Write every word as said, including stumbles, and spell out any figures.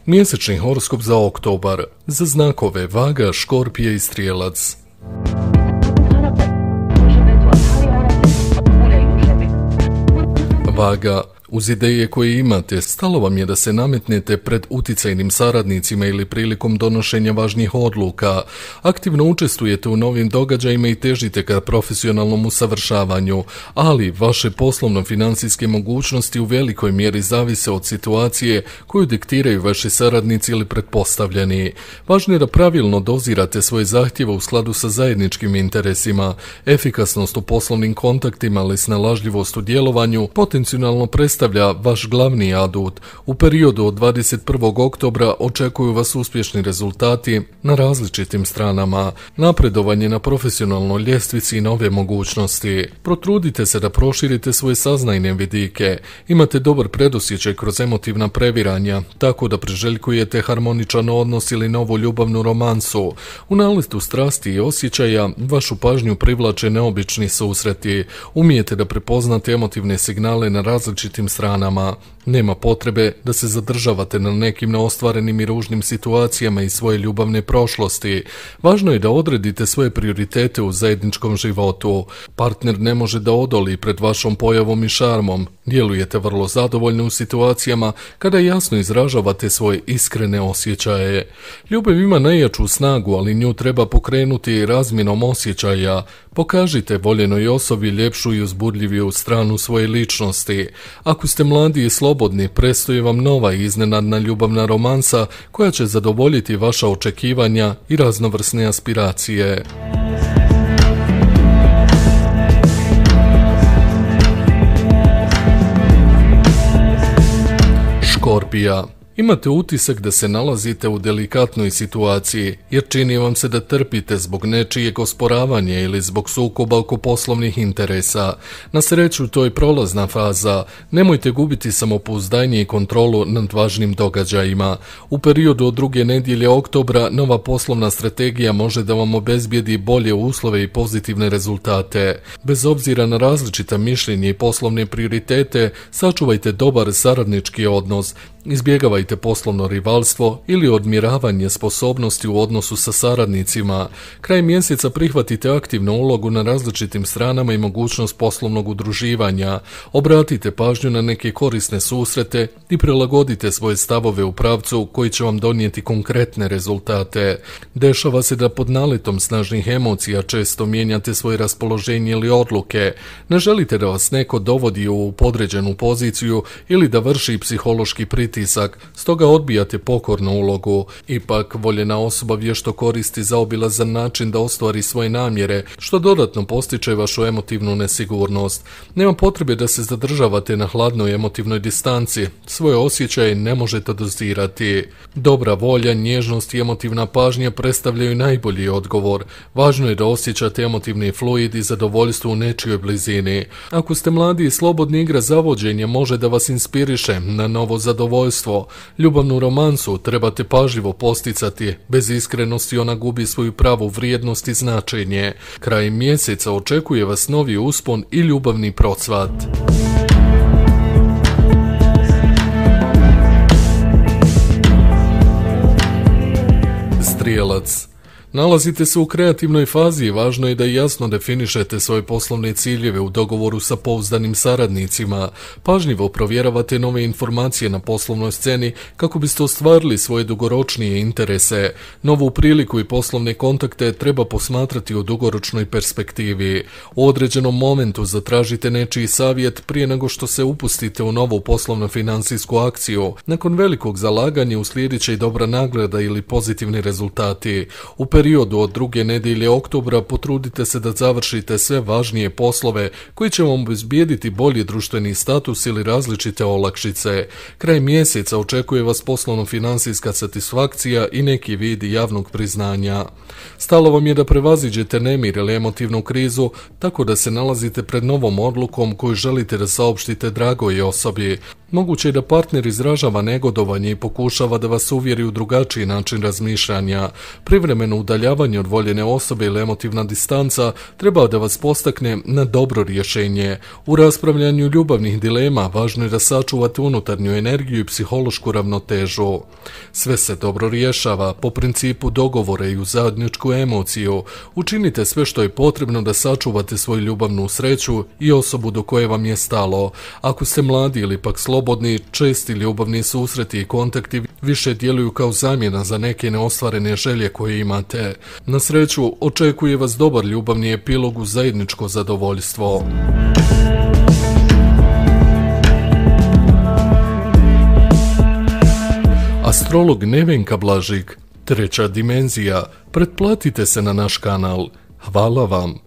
Mjesečni horoskop za oktobar, za znakove Vaga, Škorpije i Strijelac. Vaga. Uz ideje koje imate, stalo vam je da se nametnete pred uticajnim saradnicima ili prilikom donošenja važnijih odluka. Aktivno učestvujete u novim događajima i težite ka profesionalnom usavršavanju, ali vaše poslovno-financijske mogućnosti u velikoj mjeri zavise od situacije koju diktiraju vaši saradnici ili pretpostavljeni. Važno je da pravilno dozirate svoje zahtjeve u skladu sa zajedničkim interesima. Efikasnost u poslovnim kontaktima ali snalažljivost u djelovanju potencijalno predstavlja predstavlja vaš glavni adut. U periodu od dvadeset prvog oktobra očekuju vas uspješni rezultati na različitim stranama, napredovanje na profesionalnoj ljestvici i nove mogućnosti. Protrudite se da proširite svoje saznajne vidike. Imate dobar predosjećaj kroz emotivna previranja, tako da priželjkujete harmoničan odnos ili novu ljubavnu romansu. U naletu strasti i osjećaja vašu pažnju privlače neobični susreti. Umijete da prepoznate emotivne signale na različitim stranama. Nema potrebe da se zadržavate na nekim neostvarenim i ružnim situacijama iz svoje ljubavne prošlosti. Važno je da odredite svoje prioritete u zajedničkom životu. Partner ne može da odoli pred vašom pojavom i šarmom. Djelujete vrlo zadovoljno u situacijama kada jasno izražavate svoje iskrene osjećaje. Ljubav ima najjaču snagu, ali nju treba pokrenuti razmjenom osjećaja. Pokažite voljenoj osobi ljepšu i uzbudljiviju stranu svoje ličnosti. Ako ste mladi i slobodni, predstoji vam nova i iznenadna ljubavna romansa koja će zadovoljiti vaša očekivanja i raznovrsne aspiracije. Škorpija. Imate utisak da se nalazite u delikatnoj situaciji, jer čini vam se da trpite zbog nečijeg osporavanja ili zbog sukoba oko poslovnih interesa. Na sreću, to je prolazna faza. Nemojte gubiti samopouzdanje i kontrolu nad važnim događajima. U periodu od druge nedjelje oktobra nova poslovna strategija može da vam obezbijedi bolje uslove i pozitivne rezultate. Bez obzira na različita mišljenja i poslovne prioritete, sačuvajte dobar saradnički odnos. Izbjegavajte poslovno rivalstvo ili odmjeravanje sposobnosti u odnosu sa saradnicima. Kraj mjeseca prihvatite aktivnu ulogu na različitim stranama i mogućnost poslovnog udruživanja. Obratite pažnju na neke korisne susrete i prilagodite svoje stavove u pravcu koji će vam donijeti konkretne rezultate. Dešava se da pod naletom snažnih emocija često mijenjate svoje raspoloženje ili odluke. Ne želite da vas neko dovodi u podređenu poziciju ili da vrši psihološki pritisak. Stoga odbijate pokornu ulogu. Ipak, voljena osoba vješto koristi zaobilazan način da ostvari svoje namjere, što dodatno postiče vašu emotivnu nesigurnost. Nema potrebe da se zadržavate na hladnoj emotivnoj distanci. Svoje osjećaje ne možete dozirati. Dobra volja, nježnost i emotivna pažnja predstavljaju najbolji odgovor. Važno je da osjećate emotivni fluid i zadovoljstvo u nečijoj blizini. Ako ste mladi i slobodni, igra zavođenja može da vas inspiriše na novo zadovoljstvo. Ljubavnu romansu trebate pažljivo posticati, bez iskrenosti ona gubi svoju pravu vrijednost i značenje. Kraj mjeseca očekuje vas novi uspon i ljubavni procvat. Strijelac. Nalazite se u kreativnoj fazi i važno je da jasno definišete svoje poslovne ciljeve u dogovoru sa pouzdanim saradnicima. Pažljivo provjeravate nove informacije na poslovnoj sceni kako biste ostvarili svoje dugoročnije interese. Novu priliku i poslovne kontakte treba posmatrati u dugoročnoj perspektivi. U određenom momentu zatražite nečiji savjet prije nego što se upustite u novu poslovno-financijsku akciju. Nakon velikog zalaganja uslijedit će i dobra nagrada ili pozitivni rezultati. U periodu od druge nedjelje oktobra potrudite se da završite sve važnije poslove koji će vam obezbijediti bolji društveni status ili različite olakšice. Kraj mjeseca očekuje vas poslovno-financijska satisfakcija i neki vid javnog priznanja. Stalo vam je da prevaziđete nemir ili emotivnu krizu, tako da se nalazite pred novom odlukom koju želite da saopštite dragoj osobi. Moguće je da partner izražava negodovanje i pokušava da vas uvjeri u drugačiji način razmišljanja. Privremeno udaljavanje od voljene osobe ili emotivna distanca treba da vas postakne na dobro rješenje. U raspravljanju ljubavnih dilema važno je da sačuvate unutarnju energiju i psihološku ravnotežu. Sve se dobro rješava po principu dogovora i uz zajedničku emociju. Učinite sve što je potrebno da sačuvate svoju ljubavnu sreću i osobu do koje vam je stalo. Ako ste mladi ili pak slobodni, česti ljubavni susreti i kontakti više djeluju kao zamjena za neke neostvarene želje koje imate. Na sreću, očekuje vas dobar ljubavni epilog uz zajedničko zadovoljstvo. Astrolog Nevenka Blažik, treća dimenzija. Pretplatite se na naš kanal. Hvala vam.